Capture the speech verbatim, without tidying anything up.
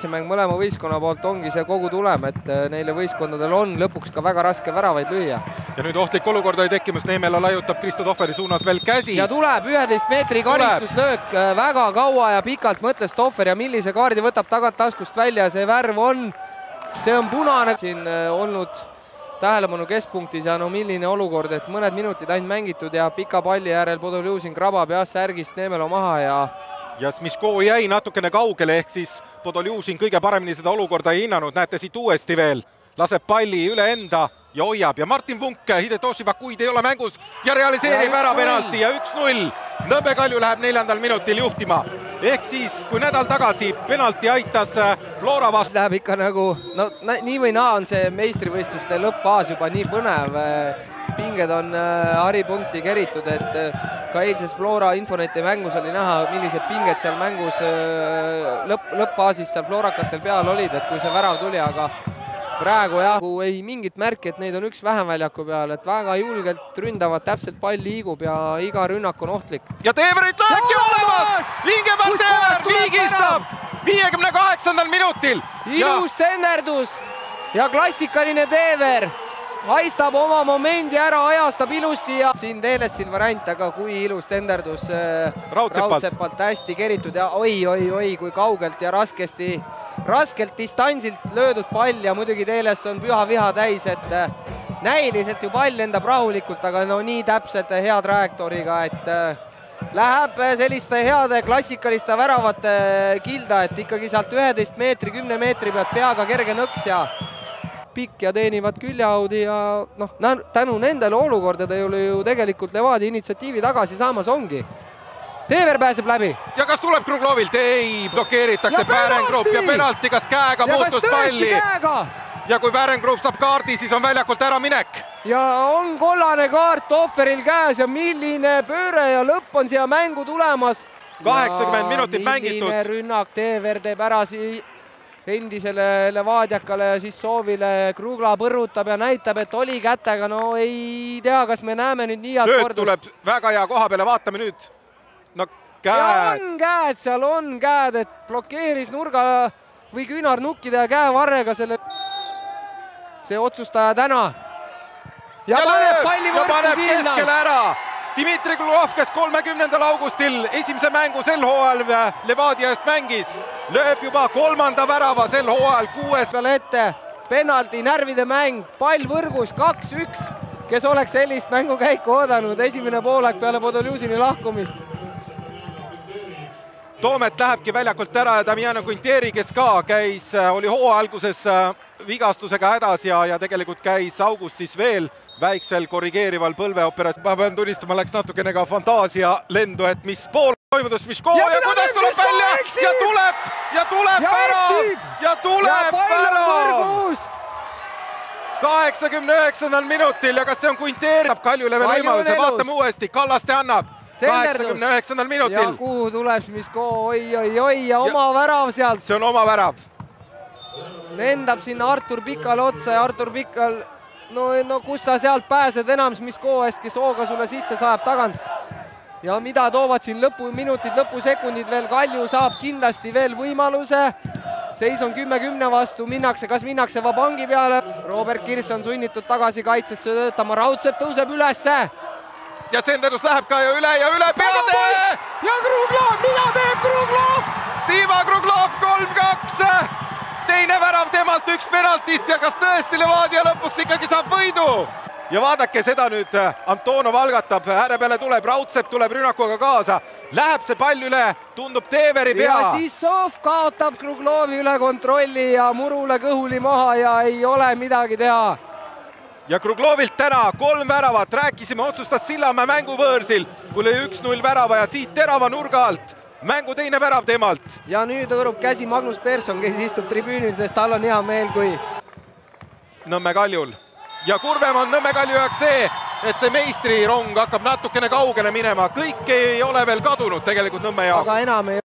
kaitsemäng mõlema võistkonna poolt ongi see kogu tulem, et neile võistkondadel on lõpuks ka väga raske väravaid lüüa. Ja nüüd ohtlik olukord oli tekkimas, Neemela laiutab Kristo Tohveri suunas veel käsi. Ja tuleb üheteist meetri karistuslöök, väga kaua ja pikalt mõtles Tohver ja millise kaardi võtab tagant taskust välja, see värv on, see on punane. Siin olnud tähelepanu keskpunktis ja no milline olukord, et mõned minutid ainult mängitud ja pika palli järel Podoljuzin krabab jah särgist Neemelo maha ja ja Smiško jäi natukene kaugele, ehk siis Podoljuzin kõige paremini seda olukorda ei hinnanud, näete siit uuesti veel, laseb palli üle enda ja hoiab ja Martin Punk, Hidetoshi Vakuid ei ole mängus ja realiseerib ära penalti ja üks null. Nõmme Kalju läheb neljandal minutil juhtima, ehk siis kui nädal tagasi penalti aitas Flora vastu. Läheb ikka nagu, no nii või naa on see meistrivõistluste lõppfaas juba nii põnev. Pinged on haripunkti keritud, et ka eilses Flora Infoneti mängus oli näha, millised pinged seal mängus lõpp, lõppfaasis seal Florakatel peal olid, et kui see värav tuli, aga praegu jah, ei mingit märki, et neid on üks vähem väljaku peal, et väga julgelt ründavad, täpselt pall liigub ja iga rünnak on ohtlik. Ja Teeverit lähebki olemas! Vingeberg Teever viigistab viiekümne kaheksandal minutil! Ilus tenderdus ja klassikaline Teever haistab oma momendi ära, ajastab ilusti ja siin Teelessil variant, aga kui ilus tenderdus Raudsepalt hästi keritud ja oi-oi-oi, kui kaugelt ja raskesti raskelt distantsilt löödud pall ja muidugi Teeles on püha viha täis, et näiliselt ju pall lendab rahulikult, aga no nii täpselt hea trajektooriga, et läheb selliste heade klassikaliste väravate kilda, et ikkagi sealt üheteist meetri, kümne meetri pealt peaga kerge nõks ja pikk ja teenivad küljeaudi ja noh, tänu nendele olukordadele ju tegelikult Levadia initsiatiivi tagasi saamas ongi. Teever pääseb läbi. Ja kas tuleb Kruglovilt? Ei, blokeeritakse Bärengrub ja penalti, kas käega ja muutus kas palli? Käega? Ja kui Bärengrub saab kaardi, siis on väljakult ära minek. Ja on kollane kaart Tohveril käes ja milline pööre ja lõpp on siia mängu tulemas. kaheksakümmend minutit mängitud. Milline rünnak Teever teeb ära endisele Levadiakale ja siis soovile Krugla põrrutab ja näitab, et oli kätega, no ei tea, kas me näeme nüüd nii head kordust. Sööt tuleb väga hea koha peale, vaatame nüüd. No käed. Ja on käed, seal on käed, et blokeeris nurga või küünarnukkide ja käevarrega selle see otsustaja täna. Ja, ja paneb palli võrku kinna. Keskele ära. Dmitri Glugov, kes kolmekümnendal augustil esimese mängu sel hooajal Levadia eest mängis, lööb juba kolmanda värava sel hooajal kuues peale ette. Penalti, närvide mäng, pall võrgus kaks üks, kes oleks sellist mängukäiku oodanud esimene poolek peale Podoljuzini lahkumist. Toomet lähebki väljakult ära ja Damiano Quintieri, kes ka käis, oli hooaja alguses vigastusega hädas ja, ja tegelikult käis augustis veel väiksel korrigeerival põlveoperatsioonis. Ma pean tunnistama, läks natukene ka fantaasia lendu, et mis pool toimudus Smiško ja, ja kuidas tuleb välja eksib. ja tuleb ja tuleb ja värav ja tuleb värav. kaheksakümne üheksandal minutil ja kas see on Quintieri? Kaljule veel võimaluse, vaatame uuesti, Kallaste annab. kaheksakümne üheksandal minutil. Ja kuhu tuleb Smiško, oi-oi-oi ja oma ja, värav sealt. See on oma värav. Lendab sinna Artur Pikal otsa ja Artur Pikal, no, no kus sa sealt pääsed enam Smiško eest, kes hooga sulle sisse saab tagant. Ja mida toovad siin lõpuminutid, lõpusekundid veel, Kalju saab kindlasti veel võimaluse. Seis on kümme kümne vastu, minnakse, kas minnakse Vabangi peale. Robert Kirss on sunnitud tagasi kaitsesse töötama, Raudsepp tõuseb ülesse. Ja Senderdus läheb ka ju üle ja üle peade! Ja Kruglov, mida teeb Kruglov? Dima Kruglov kolm kaks! Teine värav temalt üks penaltist ja kas tõesti Levadia lõpuks ikkagi saab võidu? Ja vaadake seda nüüd, Antonov algatab, ääre peale tuleb, Raudsepp tuleb rünnakuga kaasa. Läheb see pall üle, tundub Teeveri pea. Ja siis Sov kaotab Kruglovi üle kontrolli ja Murule kõhuli maha ja ei ole midagi teha. Ja Kruglovilt täna kolm väravat, rääkisime, otsustas Sillamäe mänguvõõrsil, kui lõi üks null värava ja siit terava nurga alt. Mängu teine värav temalt. Ja nüüd hõõrub käsi Magnus Persson, kes istub tribüünil, sest tal on hea meel, kui Nõmme Kaljul. Ja kurvem on Nõmme Kalju jaoks see, et see meistrirong hakkab natukene kaugele minema. Kõik ei ole veel kadunud tegelikult Nõmme jaoks. Aga enam ei